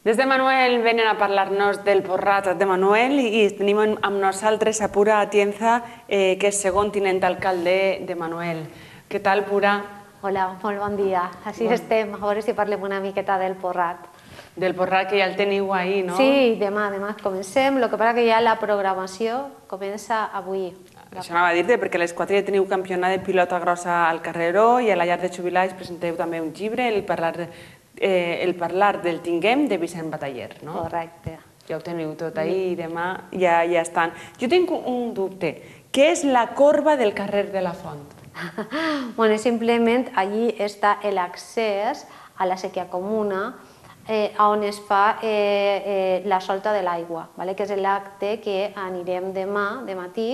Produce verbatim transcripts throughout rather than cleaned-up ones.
Des de Manuel venen a parlar-nos del Porrat de Manuel i tenim amb nosaltres a Pura Atienza, que és segon tinent alcalde de Manuel. Què tal, Pura? Hola, molt bon dia. Així estem, a veure si parlem una miqueta del Porrat. Del Porrat, que ja el teniu ahir, no? Sí, demà, demà comencem. El que passa que ja la programació comença avui. Això anava a dir-te, perquè a les quatre ja teniu campionat de pilota grossa al Carreró i a la llar de jubilats presenteu també un llibre, el parlar el parlar del Tinguem, de Vicent Bataller, no? Correcte. Ja ho teniu tot ahir i demà ja estan. Jo tinc un dubte. Què és la corba del carrer de la Font? Bueno, simplement allí està l'accés a la sèquia comuna on es fa la solta de l'aigua, que és l'acte que anirem demà, de matí,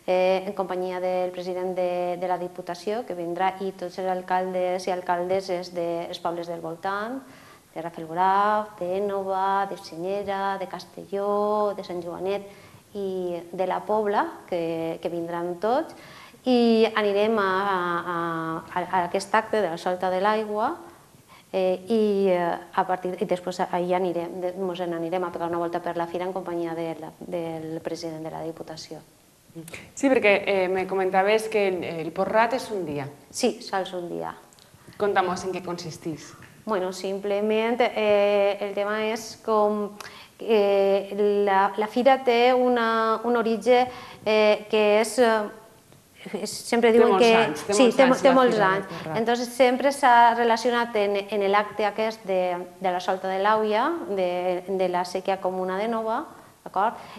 en companyia del president de la Diputació, que vindrà, i tots els alcaldes i alcaldesses dels pobles del voltant, de Rafelguaraf, d'Énova, de Senyera, de Castelló, de Sant Joanet i de la Pobla, que vindran tots, i anirem a aquest acte de la solta de l'aigua i després allà ens anirem a pegar una volta per la fira en companyia del president de la Diputació. Sí, perquè me comentaves que el Porrat és un dia. Sí, sols un dia. Conta'm-nos en què consisteix. Bueno, simplement el tema és com la fira té un origen que és... Sempre diuen que... Sí, té molts anys. Entonces sempre s'ha relacionat en l'acte aquest de la solta de l'Àuia, de la sèquia comuna de Nova.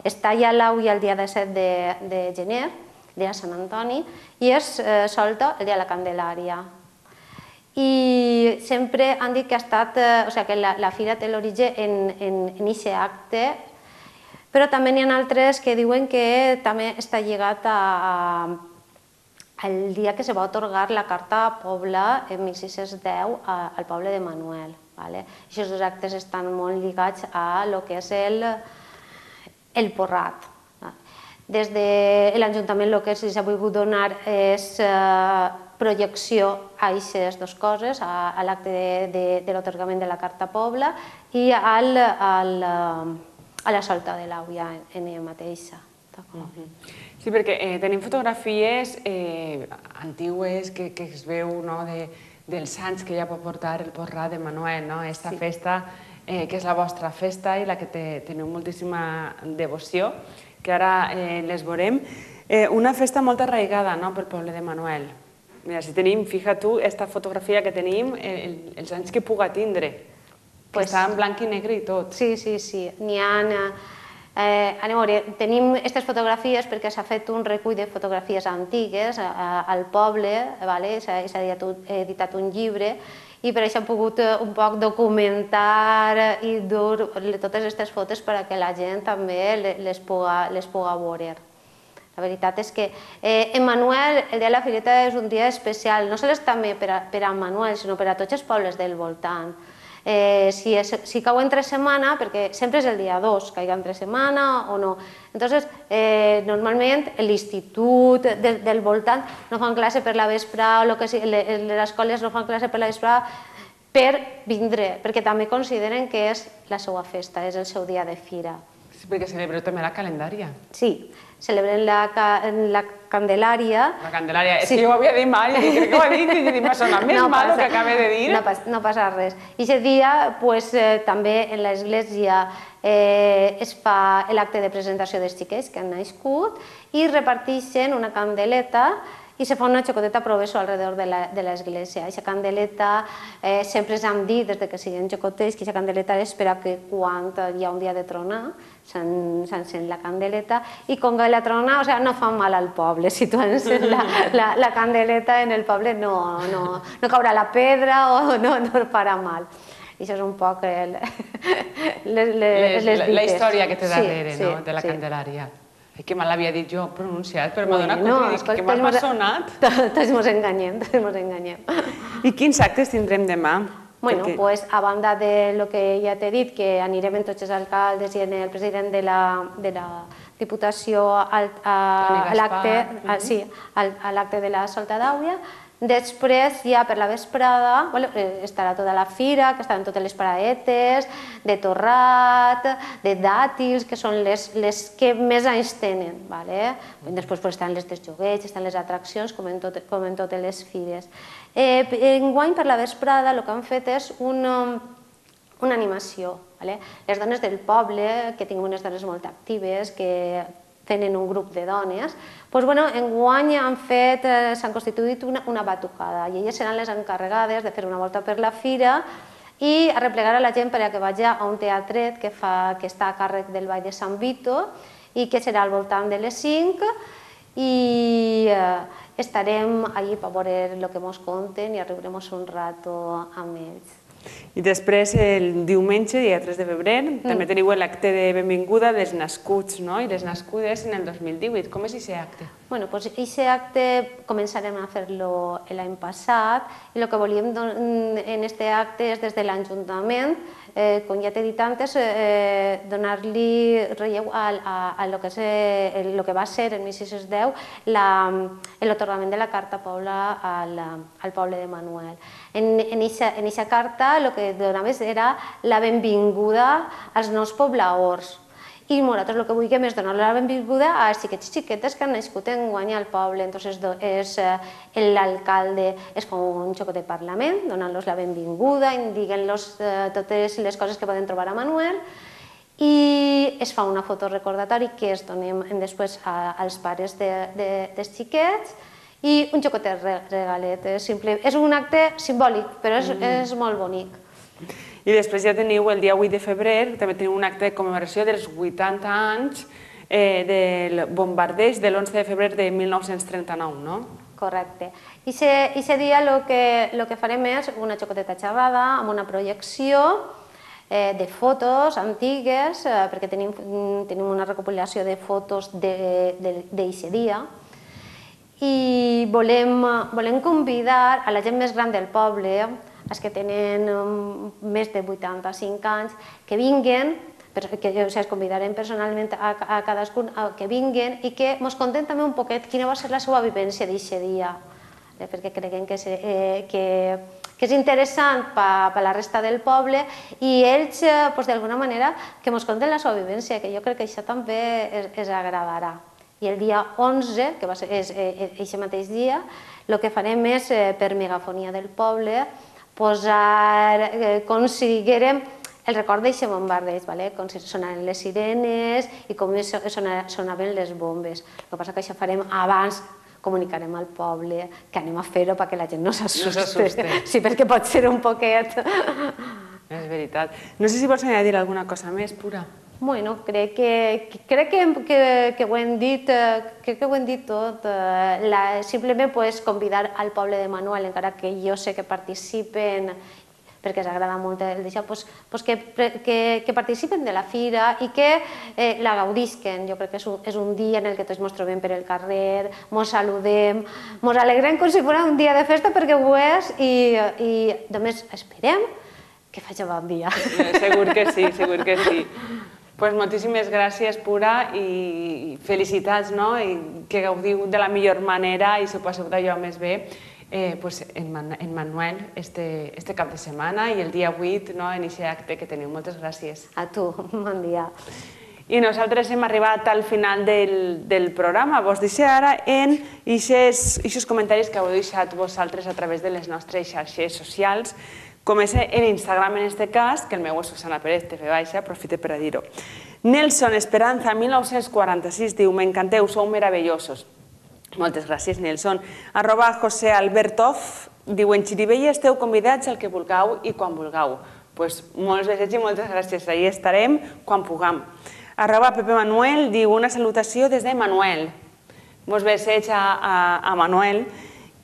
Es talla l'Àuia el dia disset de gener, el dia de Sant Antoni, i es solta el dia de la Candelària. I sempre han dit que ha estat... O sigui, que la fira té l'origen en aquest acte, però també n'hi ha altres que diuen que també està lligat al dia que se va atorgar la Carta Pobla en mil sis-cents deu al poble de Manuel. Aquests dos actes estan molt lligats a lo que és el Porrat. Des de l'Ajuntament el que s'ha volgut donar és projecció a aquestes dues coses, a l'acte de l'atorgament de la Carta Pobla i a la solta de l'Àuia en ella mateixa. Sí, perquè tenim fotografies antigues que es veu dels anys que ja pot portar el Porrat de Manuel, aquesta festa que és la vostra festa i la que teniu moltíssima devoció, que ara les veurem. Una festa molt arraigada pel poble de Manuel. Mira, si tenim, fija tu, aquesta fotografia que tenim, els anys que puga tindre, que està en blanc i negre i tot. Sí, sí, sí. N'hi ha... Anem a veure, tenim aquestes fotografies perquè s'ha fet un recull de fotografies antigues al poble, s'ha editat un llibre, i per això hem pogut un poc documentar i dur totes aquestes fotos perquè la gent també les puga veure. La veritat és que en Manuel el dia de la Fireta és un dia especial, no només també per a Manuel, sinó per a tots els pobles del voltant. Si cau entre setmana, perquè sempre és el dia dos, caiga entre setmana o no. Entonces, normalment l'institut del voltant no fan classe per la vesprada, les escoles no fan classe per la vesprada per vindre, perquè també consideren que és la seva festa, és el seu dia de fira. Sí, perquè celebreu també la calendària. Sí, celebrem la Candelària. La Candelària, és que jo ho havia dit mai, i crec que ho ha dit, i m'ha sonat més mal el que acaba de dir. No passa res. I aquest dia, també en l'església es fa l'acte de presentació dels xiquets que han nascut i reparteixen una candeleta i se fa una xocoteta proveso alrededor de l'església. Aquesta candeleta, sempre ens han dit, des que siguin xocotets, que aquesta candeleta és per a que quan hi ha un dia de tronar s'encén la candeleta, i com que la trona no fa mal al poble. Si tu encens la candeleta en el poble no caurà la pedra o no farà mal. I això és un poc les dites. La història que té darrere de la Candelària. Que me l'havia dit jo pronunciat, però m'ha donat compte que m'ha sonat. Tots ens enganyem, tots ens enganyem. I quins actes tindrem demà? Bueno, doncs, a banda del que ja t'he dit, que anirem amb tots els alcaldes i amb el president de la Diputació a l'acte de la solta d'Àuia, Després, ja per la vesprada, estarà tota la fira, que estaran totes les paradetes, de torrat, de dàtils, que són les que més anys tenen. Després estan les dels joguets, estan les atraccions, com en totes les fires. Enguany, per la vesprada, el que han fet és una animació. Les dones del poble, que tinguin unes dones molt actives, que tenen un grup de dones, enguany s'han constituït una batucada i elles seran les encarregades de fer una volta per la fira i arreplegar a la gent perquè vagi a un teatret que està a càrrec del Ball de Sant Vito i que serà al voltant de les cinc i estarem allí per veure el que ens conten i a riurem un rato amb ells. I després, el diumenge, dia tres de febrer, també teniu l'acte de benvinguda dels nascuts i les nascudes en el dos mil divuit. Com és aquest acte? Bé, doncs aquest acte començarem a fer-lo l'any passat i el que volíem en aquest acte és des de l'Ajuntament, com ja t'he dit antes, donar-li relleu a lo que va ser en mil sis-cents deu l'atorgament de la Carta Poble al poble de Manuel. En aquesta carta el que donaves era la benvinguda als nous pobladors. I nosaltres el que vulguem és donar la benvinguda a els xiquets i xiquetes que han nascut enguany al poble. Llavors l'alcalde es fa un xoc de parlament, donant-los la benvinguda, indicant-los totes les coses que poden trobar a Manuel i es fa una foto recordatori que es donem després als pares dels xiquets i un xocot de regalet. És un acte simbòlic, però és molt bonic. I després ja teniu el dia vuit de febrer, també teniu un acte de commemoració dels vuitanta anys del bombardeig de l'onze de febrer de mil nou-cents trenta-nou, no? Correcte. I aquest dia el que farem és una xocoteta xerrada amb una projecció de fotos antigues, perquè tenim una recopilació de fotos d'aquest dia, i volem convidar a la gent més gran del poble, els que tenen més de vuitanta-cinc anys, que vinguen, que els convidarem personalment a cadascun que vinguen i que ens conten també un poquet quina va ser la seva vivència d'aquest dia, perquè creiem que és interessant per la resta del poble i ells, d'alguna manera, que ens conten la seva vivència, que jo crec que això també els agradarà. I el dia onze, que és aquest mateix dia, el que farem és, per megafonia del poble, posar com si diguérem el record d'aquest bombardeig, com si sonaven les sirenes i com sonaven les bombes. El que passa que això farem abans, comunicarem al poble que anem a fer-ho perquè la gent no s'assuste. Sí, perquè pot ser un poquet. És veritat. No sé si vols añadir alguna cosa més, Pura. Bueno, crec que ho hem dit tot. Simplement convidar al poble de Manuel, encara que jo sé que participen, perquè els agrada molt el d'això, que participen de la fira i que la gaudisquen. Jo crec que és un dia en què tots ens trobem per el carrer, ens saludem, ens alegrem com si fos un dia de festa, perquè ho és, i només esperem que faci bon dia. Segur que sí, segur que sí. Doncs moltíssimes gràcies, Pura, i felicitats, i que gaudiu de la millor manera i s'ho passeu d'allò més bé en Manuel este cap de setmana i el dia vuit en aquest acte que teniu. Moltes gràcies. A tu, bon dia. I nosaltres hem arribat al final del programa. Vos deixo ara en aquests comentaris que heu deixat vosaltres a través de les nostres xarxes socials. Comença en Instagram, en este cas, que el meu és Susana Pérez, T F baixa, aprofite per a dir-ho. Nelson Esperanza, mil nou-cents quaranta-sis, diu: m'encanteu, sou meravellosos. Moltes gràcies, Nelson. Arroba José Albertov, diu: en Xirivella esteu convidats al que vulgueu i quan vulgueu. Doncs molts desitjos i moltes gràcies. Allí estarem quan puguem. Arroba Pepe Manuel, diu: una salutació des de Manuel. Molts besets a Manuel.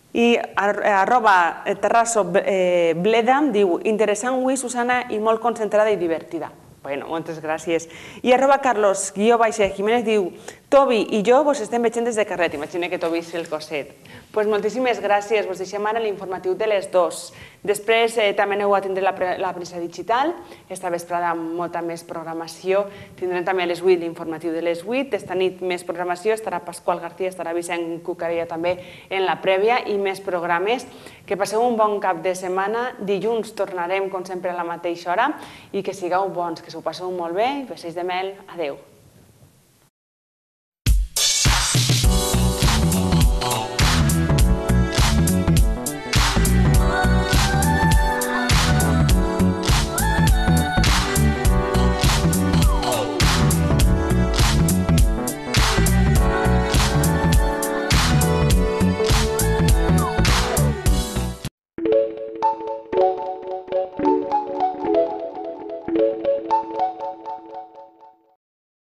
I arroba Terrasso Bleda diu: interessant avui, Susana, i molt concentrada i divertida. Bueno, moltes gràcies. I arroba Carlos Guió Baixa Jiménez diu: Tobi i jo vos estem veient des de carret, imagina que Tobi és el cosset. Doncs moltíssimes gràcies, vos deixem ara l'informatiu de les dues. Després també aneu a tindre la premsa digital, esta vesprada amb molta més programació. Tindrem també a les vuit l'informatiu de les vuit, esta nit més programació, estarà Pasqual García, estarà Vicent Cucarella també en la prèvia i més programes. Que passeu un bon cap de setmana, dilluns tornarem com sempre a la mateixa hora i que sigueu bons, que s'ho passeu molt bé i bessells de mel, adeu.